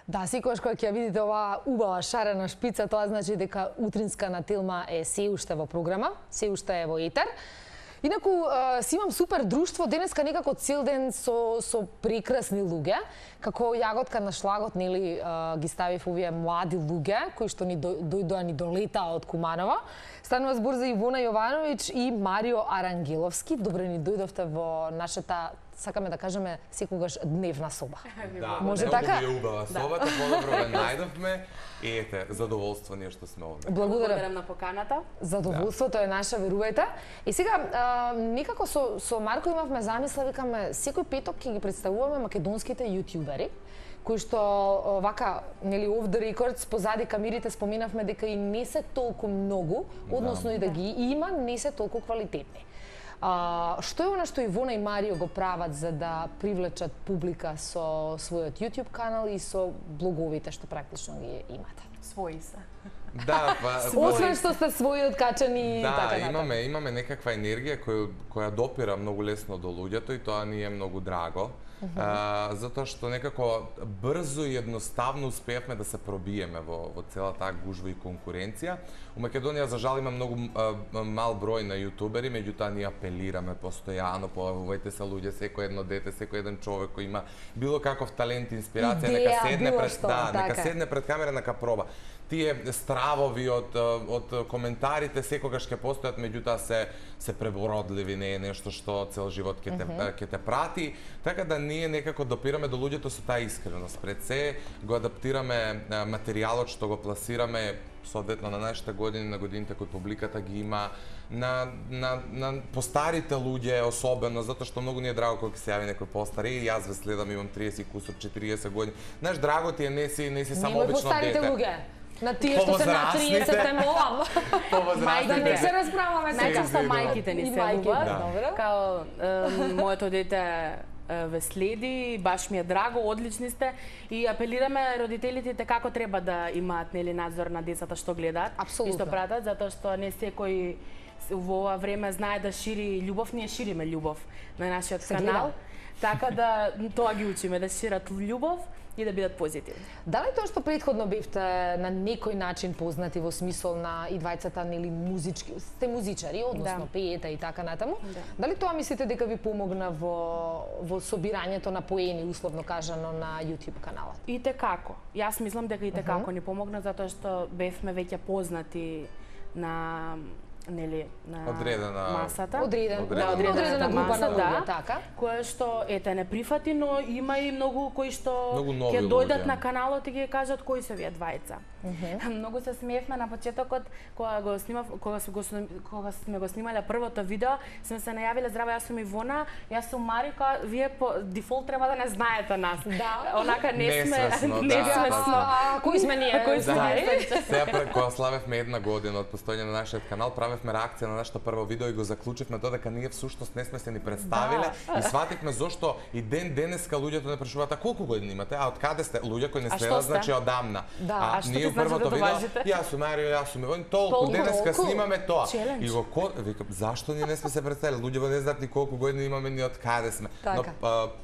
Да, секогаш кога ќе ја видите оваа убава шарена шпица, тоа значи дека утринска на Телма е се уште во програма, се уште е во етер. Инаку, си имам супер друштво, денеска некако цел ден со прекрасни луѓе, како јаготка на шлагот, нели, ги ставив овие млади луѓе, кои што ни дојдоа ни долетаа од Куманова. Станува збор за Ивона Јовановиќ и Марио Арангеловски. Добре ни дојдовте во нашата, сакаме да кажеме, секогаш дневна соба. Да, може така? Многу ви убава собата, подобро ве најдовме и ете, задоволство ние што сме овде. Благодарам на поканата. Задоволството е наша, верувајте. И сега, некако со Марко имавме замисла, викаме, секој петок ќе ги представуваме македонските јутјубери, кои што вака, нели, off the records, позади камерите споменавме дека и не се толку многу, односно и да ги има, не се толку квалитетни. Што е она што Ивона и Марио го прават за да привлечат публика со својот YouTube канал и со блоговите што практично ги имате? Своји се. Да, па освен што сте своји откачани и така натаму. Да, имаме некаква енергија која допира многу лесно до луѓето и тоа ни е многу драго. Затоа што некако брзо и едноставно успеавме да се пробиеме во целата таа гужва и конкуренција. У Македонија за жал има многу мал број на јутубери, меѓутоа ние апелираме постојано, појавувајте се луѓе, секој едно дете, секој еден човек кој има било каков талент, инспирација, нека седне пред нека седне пред камера, нека проба. Тие стравови од коментарите секогаш ќе постојат, меѓутоа се пребородливи, не е нешто што цел живот ќе те прати, така да ние некако допираме до луѓето со таа искреност. Пред се го адаптираме материјалот што го пласираме соодветно на нашите години, на годините кои публиката ги има, на постарите луѓе особено, затоа што многу ни е драго кога се јави некој постар. И јас ве следам, имам 30 кусур, 40 години. Знаеш, драго ти е, не си само обично дете. На тие што се на 30 те молам. Да не се расправаме така. Најчесто мајките ни се убават. Као моето дете ве следи, баш ми е драго, одлични сте и апелираме родителите како треба да имаат, нели, надзор на децата што гледаат и што пратат, затоа што не секој во ова време знае да шири љубов, ние шириме љубов на нашиот канал. Така да тоа ги учиме, да шират љубов и да бидат позитивни. Дали тоа што претходно бевте на некој начин познати во смисол на и двајцата, нели, музички, сте музичари, односно пеете и така натаму, дали тоа мислите дека ви помогна во собирањето на поени, условно кажано, на YouTube каналот? И текако. Јас мислам дека и текако ни помогна, затоа што бевме веќе познати на на масата. Одредена група на луѓе, така. Кое што, ете, не прифати, но има и многу кои што ќе дојдат на каналот и ќе кажат кои се вие двајца. Многу се смеевме на почетокот кога сме го снимале првото видео, сме се најавиле: здраво, јас сум Ивона, јас сум Марика, вие по дефолт треба да не знаете нас. Да. Онака не сме кои сме ние? Сега кога славевме една година од постоење на нашиот канал, правевме реакција на нашето прво видео и го заклучивме тоа дека ние всушност не сме се ни представиле и свативме зошто и денеска луѓето не прашуваат: а колку години имате? А од каде сте? Луѓе кои не следат, значи одамна. А ние првото видео, јас сум Марио, јас сум Ивон, толку денеска снимаме тоа. И го викам, зашто ние не сме се представиле? Луѓето не знаат ни колку години имаме, ни од каде сме. Но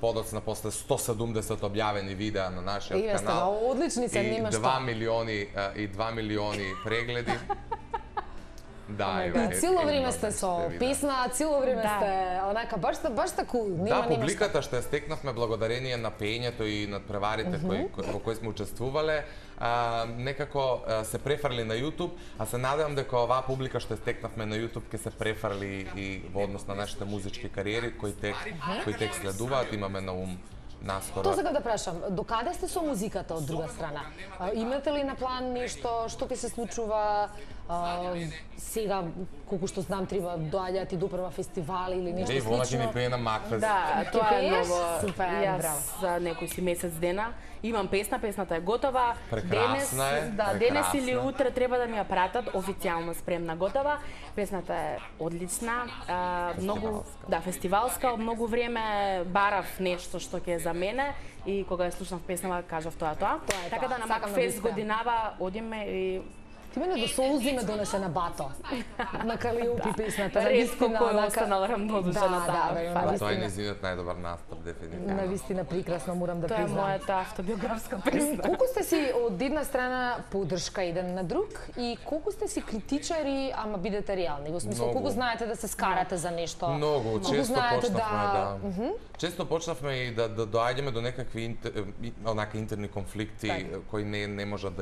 подоцна после 170 објавени видеа на нашиот канал. Одлични се, нема што. И 2 милиони прегледи. Да, и цело време сте со песна, цело време сте онака баш таку, нема публиката што ја стекнавме благодарение на пеењето и надпреварите во кои сме учествувале, некако се префрли на YouTube, а се надевам дека оваа публика што ја стекнавме на YouTube ќе се префрли и во однос на нашите музички кариери кои тек следуваат, имаме на ум наскоро. Тоа сакам да прашам, докаде сте со музиката од друга страна? Имате ли на план нешто што ќе се случува сега, колку што знам, треба доаѓаат и до прва фестивали или нешто слично? Ивона ќе ни пее на Макфест. Да, тоа е многу. Јас за некој си месец дена имам песна, песната е готова. Прекрасна е. Да, денес или утре треба да ми ја пратат официјално спремна, готова. Песната е одлична, многу фестивалска, многу време барав нешто што ќе е за мене и кога ја слушнав песнава кажав тоа. Така да на Макфест годинава одиме и Ти мене до солзи ме донесе на бато. На Калиопи песната. Ретко кој останал рамнодушен на таа. Тоа е незинот најдобар настап, дефинитивно. Навистина прекрасно, морам да признам. Тоа е мојата автобиографска песна. Колку сте си од една страна поддршка еден на друг и колку сте си критичари, ама бидете реални? Во смисла, колку знаете да се скарате за нешто? Многу, често почнавме често почнавме и да доаѓаме до некакви интерни конфликти кои не можат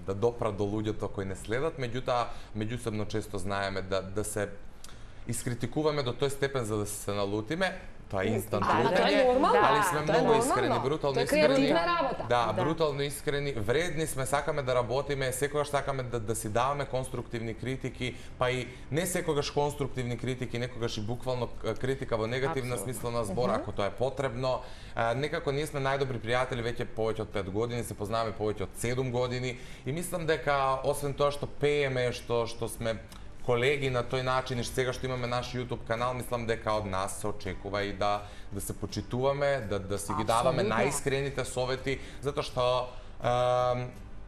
да допрат до луѓето кои не следат, меѓутоа меѓусебно често знаеме да се искритикуваме до тој степен за да се налутиме. Тоа е инстант лутење, али сме многу искрени, брутално искрени. Тоа е креативна работа. Да, брутално искрени, вредни сме, сакаме да работиме, секогаш сакаме да си даваме конструктивни критики, па и не секогаш конструктивни критики, некогаш и буквално критика во негативна смисла на збор, ако тоа е потребно. Некако ние сме најдобри пријатели веќе повеќе од 5 години, се познаваме повеќе од 7 години и мислам дека освен тоа што пееме, што сме колеги на тој начин и сега што имаме наш YouTube канал, мислам дека од нас се очекува и да се почитуваме, да си ги даваме најискрените совети, затоа што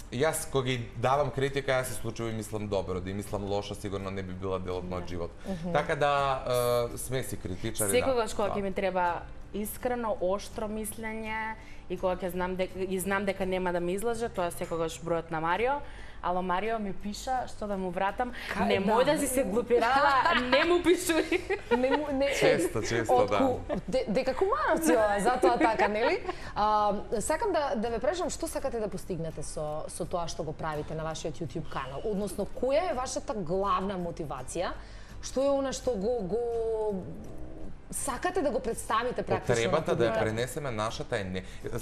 јас кога ги давам критика, јас се случува и мислам добро, да и мислам лошо, сигурно не би била дел од мојот живот. Така да сме си критичари. Секогаш кога ќе ми треба искрено, оштро мислење и кога ќе знам дека нема да ме излаже, тоа секогаш бројот на Марио. Ало Марио ми пиша што да му вратам, немој да си се глупирала, не му пишуј. Често, да. Дека кумаровци ова, затоа така, нели? Сакам да ве прашам што сакате да постигнете со тоа што го правите на вашиот YouTube канал, односно која е вашата главна мотивација? Што е она што го сакате да го представите практично? Потребата да ја пренесеме нашата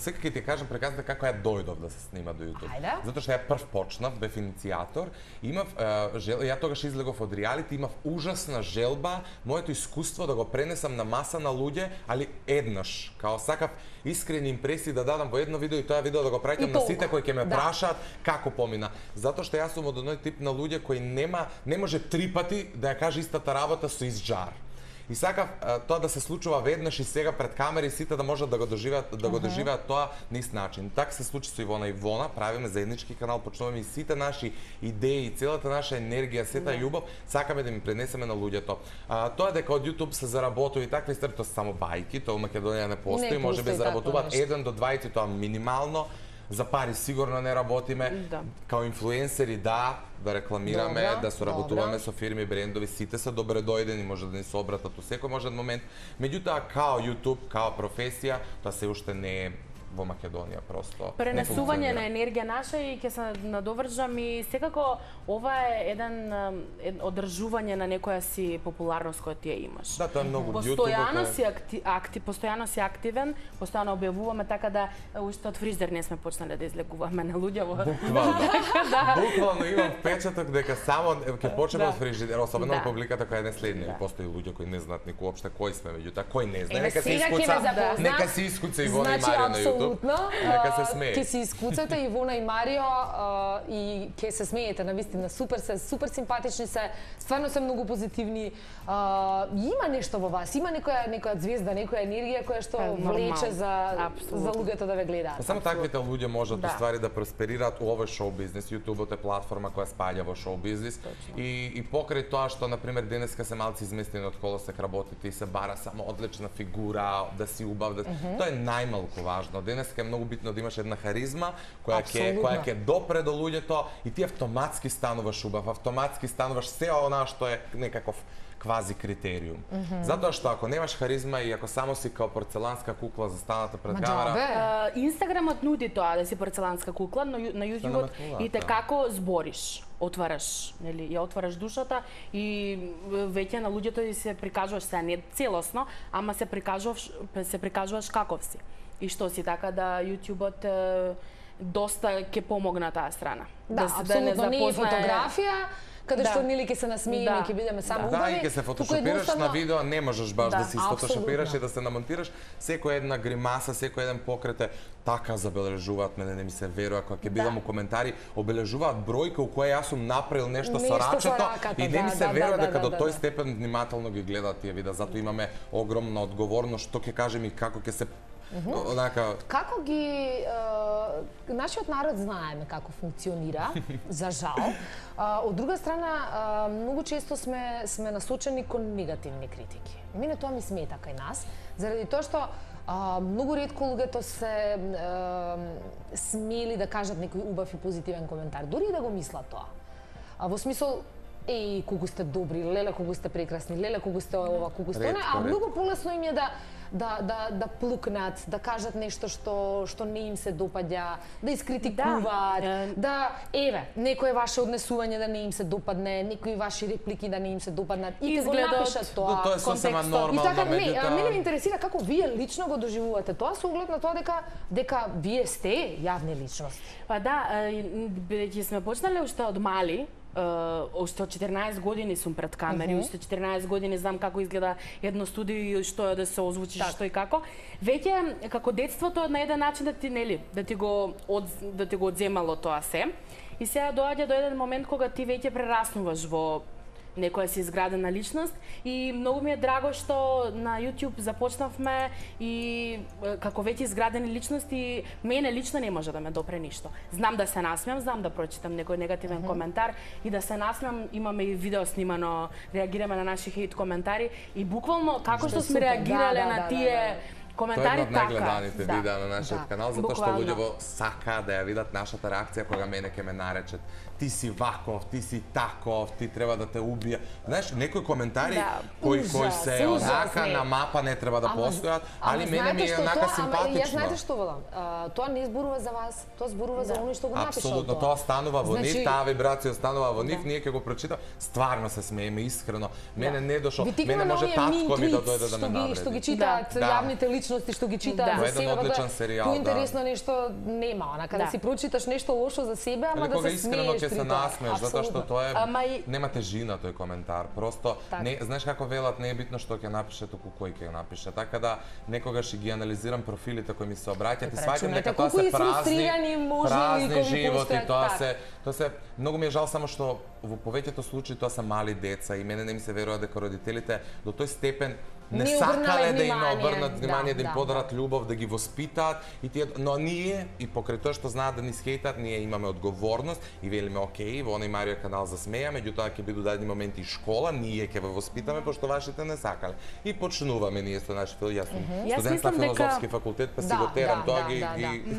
Сега ќе ти кажам преказата како ја дојдов да се снима до YouTube. Затоа што ја прв почнав, бев иницијатор, имав ја тогаш излегов од реалити, имав ужасна желба, моето искуство да го пренесам на маса на луѓе, али еднаш, као сакав искрени импресии да дадам во едно видео и тоа видео да го праќам на сите кои ќе ме прашаат како помина. Затоа што јас сум од оној тип на луѓе кои не може 3 пати да ја каже истата работа со изжар. И сакав тоа да се случува веднаш и сега пред камери сите да можат да го доживеат тоа на ист начин. Така се случи со Ивона и Ивона, правиме заеднички канал, почнуваме и сите наши идеи, целата наша енергија, сета љубов, сакаме да ми пренесеме на луѓето. Тоа дека од YouTube се заработува и такви ствари, тоа се само бајки, тоа во Македонија не постои, можеби заработуваат 1 до 2, тоа минимално. За пари сигурно не работиме, као инфлуенсери да рекламираме, да соработуваме со фирми, брендови, сите се добре дојдени, може да ни се обратат у секој можен момент. Меѓутоа, као YouTube, као професија, тоа се уште не е во Македонија просто. Пренесување на енергија наша и ќе се надовржам и секако ова е одржување на некоја си популарност која ти ја имаш. Да, тоа е многу постојано си активен, постојано објавуваме, така да уште од фризер не сме почнале да излегуваме на луѓе во. Буквално имам впечаток дека само ќе почнеме од фризер, особено од публиката која не следни, постои луѓе кои не знаат никој опште кои сме, меѓутоа кој не знае, нека се искуца Ивона и Марио на YouTube. Нека се смее. Ќе се искуцате Ивона и Марио и ќе се смеете, навистина супер симпатични се, стварно се многу позитивни. Има нешто во вас, има некоја звезда, некоја енергија која што влече за луѓето да ве гледаат. Само таквите луѓе можат уствари да просперираат у овој шоу бизнес. YouTube е платформа која спаѓа во шоу бизнес и покрај тоа што на пример денеска се малци изместени од колосек работите и се бара само одлична фигура, да си убав, тоа е најмалку важно. Денеска е многу битно да имаш една харизма која ќе допре до луѓето и ти автоматски стануваш убав, автоматски стануваш се она што е некаков квази критериум. Затоа што ако немаш харизма и ако само си као порцеланска кукла застаната пред камера, Инстаграмот нуди тоа да си порцеланска кукла, но на YouTубот и те како збориш. Отвараш, нели, ја отвараш душата и веќе на луѓето се прикажуваш, се не целосно, ама се прикажуваш каков си. И што си, така да YouTubот доста ќе помогна таа страна. Да, апсолутно не е фотографија, каде што нели ќе се насмееме, ќе бидеме само убави. Да, и ќе се фотошопираш на видео, не можеш баш да се фотошопираш и да се намонтираш. Секоја една гримаса, секој еден покрет е така забележуваат, мене не ми се верува, кога ќе бидам у коментари, обележуваат бројка у која јас сум направил нешто со рачето и не ми се верува дека до тој степен внимателно ги гледаат тие видеа. Затоа имаме огромна одговорност што ќе кажем и како ќе се Како ги нашиот народ знаеме како функционира, за жал. Од друга страна, многу често сме насочени кон негативни критики. Мене тоа ми смета кај нас, заради тоа што многу ретко луѓето се смели да кажат некој убав и позитивен коментар, дури и да го мислат тоа. Во смисол, еј, колку сте добри, леле, колку сте прекрасни, леле, колку сте ова, колку сте она, а многу полесно им е да плукнат, да кажат нешто што не им се допаѓа, да искритикуваат, еве, некое ваше однесување да не им се допадне, некои ваши реплики да не им се допаднат, и го напишат тоа. Тоа е сосема нормално, меѓутоа мене ме интересира како вие лично го доживувате тоа, со оглед на тоа дека вие сте јавни личности. Па да, бидејќи сме почнале уште од мали, уште од 14 години сум пред камери, уште 14 години знам како изгледа едно студио и што е да се озвучиш, што и како. Веќе како детството на еден начин да ти го одземало тоа се. И сега доаѓа до еден момент кога ти веќе прераснуваш во некоја си изградена личност и многу ми е драго што на YouTube започнавме и како веќе изградени личности, мене лично не може да ме допре ништо. Знам да се насмеам, знам да прочитам некој негативен коментар и да се насмеам, имаме и видео снимано, реагираме на наши хейт коментари и буквално како што сме реагирале на тие коментари така. Тоа е од најгледаните видеа на нашиот канал, затоа што луѓето сакаат да ја видат нашата реакција кога мене ќе ме наречат ти си ваков, ти си таков, ти треба да те убија. Знаеш, некои коментари кои се онака на мапа не треба да постојат, али мене ми е онака симпатично. Јас знаете што велам? Тоа не зборува за вас, тоа зборува за оној што го напишал тоа. Апсолутно, тоа станува во нив, таа вибрација станува во нив, ние ќе го прочитаме, стварно се смееме искрено. Мене не дошо, мене може татко ми да дојде да ме навреди. Што ги читаат јавните личности, што ги читаат за себе, одличен серијал, поинтересно нешто нема, онака да си прочиташ нешто лошо за себе, ама да се смееш се насмееш, затоа што тоа е нема тежина тој коментар. Просто не, знаеш како велат, не е битно што ќе напише, туку кој ќе напише. Така да некогаш ги анализирам профилите кои ми се обраќаат и сваќам дека тоа се празни животи, тоа се многу ми е жал само што во повеќето случаи тоа се мали деца и мене не ми се верува дека родителите до тој степен не сакале да им обрнат внимание, да им подарат љубов, да ги воспитаат и тие, но ние и покрај тоа што знаат да ни скејтат, ние имаме одговорност и велиме окей, во оној Марио канал за смеја, меѓутоа ќе бидат дадени моменти и школа, ние ќе ве воспитаме пошто вашите не сакале. И почнуваме ние со нашите, јас сум студент на филозофски факултет, па си го терам тоа ги.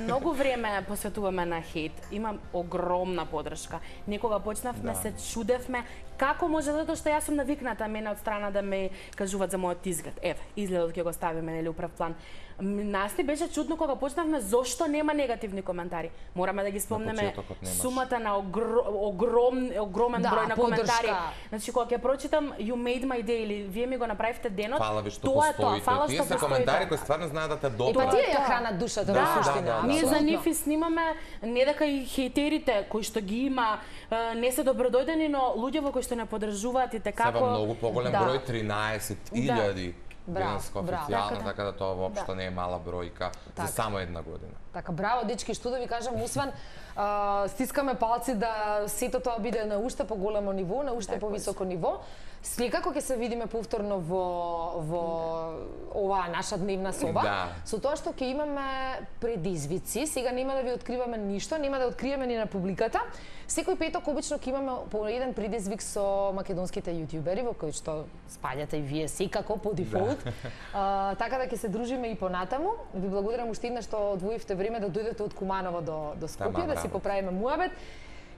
Многу време посветуваме на хейт. Имам огромна подршка. Некога почнавме се чудевме како може, затоа што јас сум навикната мене од страна да ме кажуваат за мојот изглед. Еве, изгледот ќе го ставиме нели управ план. Нас ни беше чудно кога почнавме зошто нема негативни коментари. Мораме да ги спомнеме сумата на огромен број на коментари. Значи кога ќе прочитам You made my day или вие ми го направивте денот, фала ви што постоите. Тие се коментари кои стварно знаат да те допрат. Па тие ја хранат душата во суштина. Ние за нив и снимаме, не дека и хејтерите кои што ги има не се добродојдени, но луѓе кои што не поддржуваат и така како Сега многу поголем број 13.000 денеска официјално, така да тоа воопшто не е мала бројка за само една година. Така, браво, дечки, што да ви кажам, освен стискаме палци да сето тоа биде на уште поголемо ниво, на уште повисоко ниво. Секако ќе се видиме повторно во оваа наша дневна соба, со тоа што ќе имаме предизвици. Сега нема да ви откриваме ништо, нема да откриеме ни на публиката. Секој петок обично ќе имаме по еден предизвик со македонските јутјубери, во кои што спаѓате и вие секако по дефолт. Така да ќе се дружиме и понатаму. Ви благодарам уште еднаш што одвоивте време да дојдете од Куманово до Скопје, да си поправиме муабет.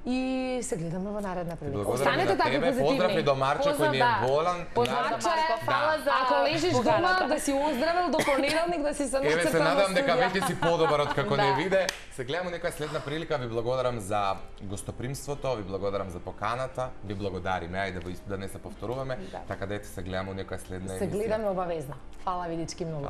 И се гледаме во наредна прилика. Останете така позитивни. Поздрави до Марче кој ни е болан. Ако лежиш дома да си оздравел до понеделник да си се нацртал. Еве се надам дека веќе си подобар од како не виде. Се гледаме некоја следна прилика. Ви благодарам за гостопримството, ви благодарам за поканата, ви благодариме. Ајде да не се повторуваме. Така да се гледаме некоја следна емисија. Се гледаме обавезно. Фала ви дечки многу.